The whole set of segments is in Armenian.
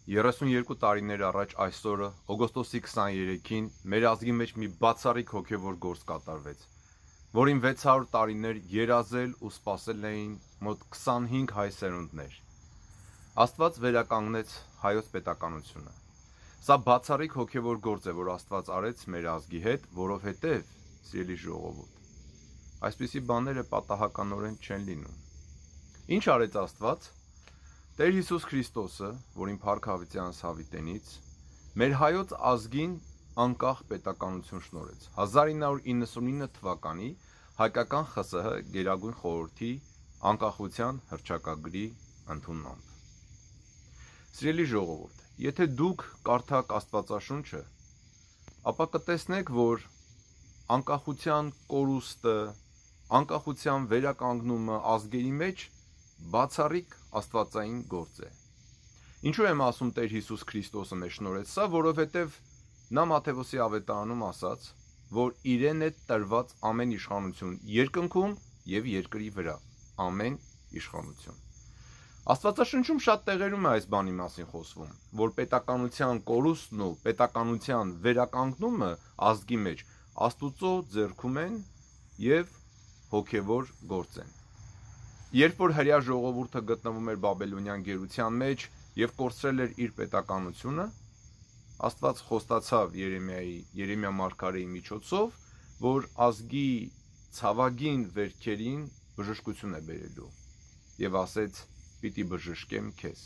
32 տարիներ առաջ այսօրը, օգոստոսի 23-ին, մեր ազգի մեջ մի բացառիկ հոգևոր գործ կատարվեց, որին 600 տարիներ երազել ու սպասել էին մոտ 25 հայ սերունդներ։ Աստված վերականգնեց հայոց պետականությունը։ Սա բացառիկ հոգևոր գործ է, որ Աստված արեց մեր ազգի հետ, որովհետև, սիրելի ժողովուրդ, այսպիսի բաները պատահականորեն չեն լինում։ Ինչ արեց Աստված։ Տեր Հիսուս Քրիստոսը, որին փառք հավիտյանս հավիտենից, մեր հայոց ազգին անկախ պետականություն շնորհեց 1999 թվականի հայկական ԽՍՀ Գերագույն խորհրդի անկախության հռչակագրի ընդունմամբ։ Սիրելի ժողովուրդ, եթե դուք կարդաք Աստվածաշունչը, ապա կտեսնեք, որ անկախության կորուստը, անկախության վերականգնումը ազգերի մեջ բացառիկ աստվածային գործ է։ Ինչու եմ ասում Տեր Հիսուս Քրիստոսը մեզ շնորհեց սա, որովհետև նա Մատթեոսի ավետարանում ասաց, որ իրեն է տրված ամեն իշխանություն երկնքում եւ երկրի վրա, ամեն իշխանություն։ Աստվածաշնչում շատ տեղերում է այս բանի մասին խոսվում, որ պետականության կորուստն ու պետականության վերականգնումը ազգի մեջ Աստուծո ձեռքում են եւ հոգևոր գործ են։ Երբ որ հրեա ժողովուրդը գտնվում էր բաբելոնյան գերության մեջ եւ կորցրել էր իր պետականությունը, Աստված խոստացավ Երեմիա մարգարեի միջոցով, որ ազգի ցավագին վերքերին բժշկություն է բերելու եւ ասեց. «Պիտի բժշկեմ քեզ»։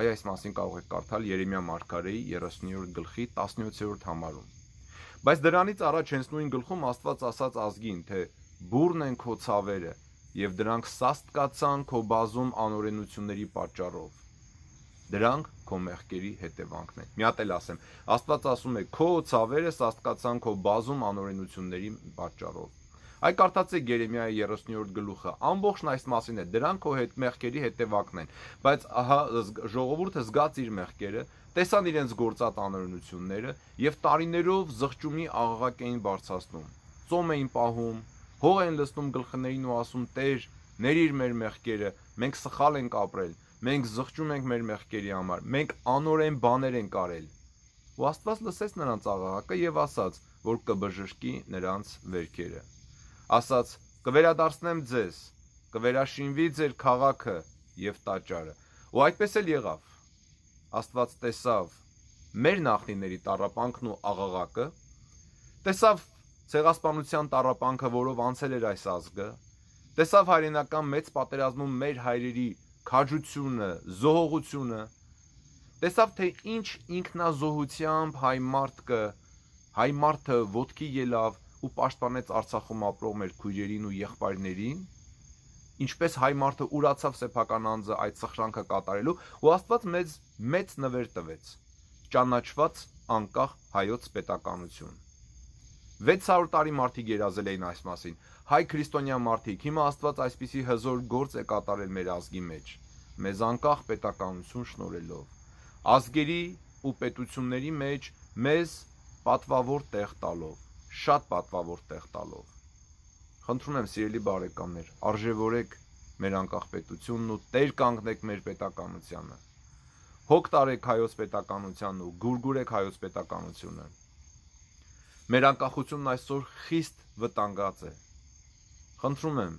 Այս մասին կարող եք կարդալ Երեմիա մարգարեի 30-րդ գլխի 17-րդ համարում։ Բայց դրանից առաջ հենց նույն գլխում Աստված ասաց ազգին, թե բուռն են քո ցավերը եւ դրանք սաստկացան քո բազում անօրենությունների պատճառով։ Դրանք քո մեղքերի հետևանքն են։ Մի հատ էլ ասեմ, Աստված ասում է քո ցավերը սաստկացան քո բազում անօրենությունների պատճառով։ Այ կարդացեք Երեմիայի 30-րդ գլուխը, ամբողջն այս մասին է, դրանք քո մեղքերի հետևանքն են, բայց ահա ժողովուրդը զգաց իր մեղքերը, տեսան իրենց գործած անօրենությունները եւ տարիներով զղջումի աղաղակ էին բարձրացնում, ծոմ էին պահում, հող էին լցնում գլխներին ու ասում. «Տեր, ներիր մեր մեղքերը, մենք սխալ ենք ապրել, մենք զղջում ենք մեր մեղքերի համար, մենք անօրեն բաներ ենք արել»։ Ու Աստված լսեց նրանց աղաղակը եւ ասաց, որ կբժշկի նրանց վերքերը։ Ասաց. «Կվերադարձնեմ ձեզ, կվերաշինվի ձեր քաղաքը եւ տաճարը»։ Ու այդպես էլ եղավ։ Աստված տեսավ մեր նախնիների տառապանքն ու աղաղակը, տեսավ ցեղասպանության տառապանքը, որով անցել էր այս ազգը, տեսավ հայրենական մեծ պատերազմում մեր հայրերի քաջությունը, զոհողությունը, տեսավ թե ինչ ինքնազոհությամբ հայ մարդը ոտքի ելավ ու պաշտպանեց Արցախում ապրող մեր քույրերին ու եղբայրներին, ինչպես հայ մարդը ուրացավ սեփական անձը այդ սխրանքը կատարելու, ու Աստված մեծ նվեր տվեց, ճանաչված անկախ հայոց պետականություն։ 600 տարի մարդիկ երազել էին այս մասին, հայ քրիստոնյա մարդիկ, հիմա Աստված այսպիսի հզոր գործ է կատարել մեր ազգի մեջ, մեզ անկախ պետականություն շնորհելով, ազգերի ու պետությունների մեջ մեզ պատվավոր տեղ տալով, շատ պատվավոր տեղ տալով։ Խնդրում եմ, սիրելի բարեկամներ, արժևորեք մեր անկախ պետությունն ու տեր կանգնեք մեր պետականությանը։ Հոգ տարեք հայոց պետականությանն ու գուրգուրեք հայոց պետականությունը։ Մեր անկախությունն այսօր խիստ վտանգած է։ Խնդրում եմ,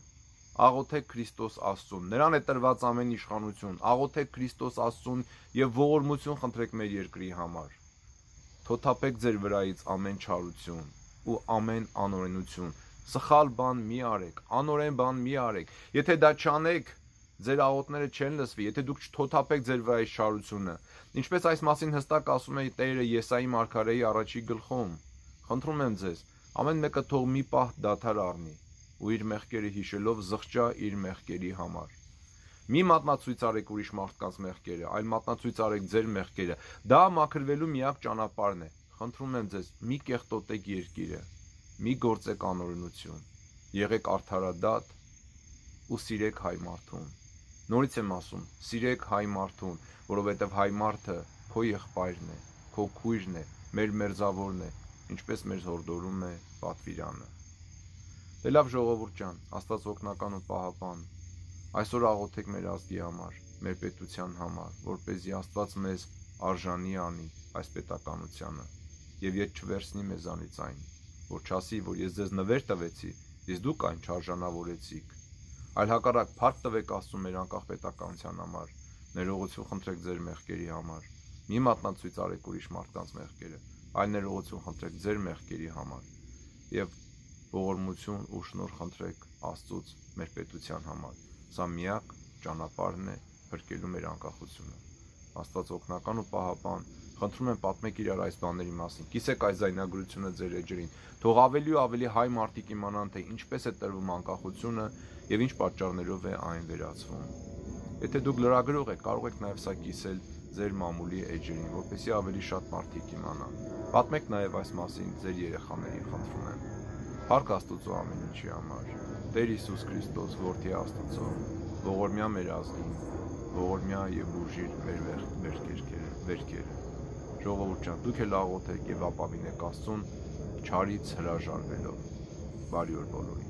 աղոթեք Քրիստոս Աստծուն, նրան է տրված ամեն իշխանություն, աղոթեք Քրիստոս Աստծուն եւ ողորմություն խնդրեք մեր երկրի համար։ Թոթափեք ձեր վրայից ամեն չարություն ու ամեն անօրենություն, սխալ բան մի արեք, անօրեն բան մի արեք։ Եթե դա չանեք, ձեր աղոթները չեն լսվի, եթե դուք չթոթափեք ձեր վրայից չարությունը, ինչպես այս մասին հստակ ասում է Տերը Եսայի մարգարեի 1-րդ գլխում։ Խնդրում եմ ձեզ, ամեն մեկը թող մի պահ դադար առնի ու իր մեղքերը հիշելով զղջա իր մեղքերի համար։ Մի մատնացույց արեք ուրիշ մարդկանց մեղքերը, այլ մատնացույց արեք ձեր մեղքերը։ Դա մաքրվելու միակ ճանապարհն է։ Խնդրում եմ ձեզ, մի կեղտոտեք երկիրը, մի գործեք անօրենություն, եղեք արդարադատ ու սիրեք հայ մարդուն։ Նորից եմ ասում, սիրեք հայ մարդուն, որովհետև հայ մարդը քո եղբայրն է, քո քույրն է, մեր մերձավորն է, ինչպես մեզ հորդորում է պատվիրանը։ Դե լավ ժողովուրդ ջան, Աստված օգնական ու պահապան, այսօր աղոթեք մեր ազգի համար, մեր պետության համար, որպեսզի Աստված մեզ արժանի անի այս պետականությանը եւ ետ չվերցնի մեզանից այն, որ չասի, որ ես ձեզ նվեր տվեցի, իսկ դուք այն չարժանավորեցիք, այլ հակառակ փառք տվեք Աստծուն մեր անկախ պետականության համար, ներողություն խնդրեք ձեր մեղքերի համար, մի մատնացույց արեք ուրիշ մարդկանց մեղքերը, այլ ներողություն խնդրեք ձեր մեղքերի համար եւ ողորմություն ու շնորհ խնդրեք Աստծուց մեր պետության համար։ Սա միակ ճանապարհն է փրկելու մեր անկախությունը։ Աստված օգնական ու պահապան, խնդրում եմ պատմեք իրար այս բաների մասին, կիսեք այս զայնագրությունը ձեր էջերին, թող ավելի ու ավելի հայ մարդիկ իմանան, թե ինչպես է տրվում անկախությունը եւ ինչ պատճառներով է այն վերացվում։ Եթե դուք լրագրող եք, կարող եք նաեւ սա կիսել ձեր մամուլի էջերին, որպեսզի ավելի շատ մարդիկ իմանան։ Պատմեք նաեւ այս մասին ձեր երեխաներին, խնդրում եմ։ Փառք Աստծո ամեն ինչի համար։ Տեր Հիսուս Քրիստոս, որդի Աստծո, ողորմյա մեր ազգին, ողորմյա եւ բուժիր մեր վերքերը։ Ժողովուրդ ջան, դուք էլ աղոթեք եւ ապավինեք Աստծուն չարից հրաժարվելով։ Բարի օր բոլորին։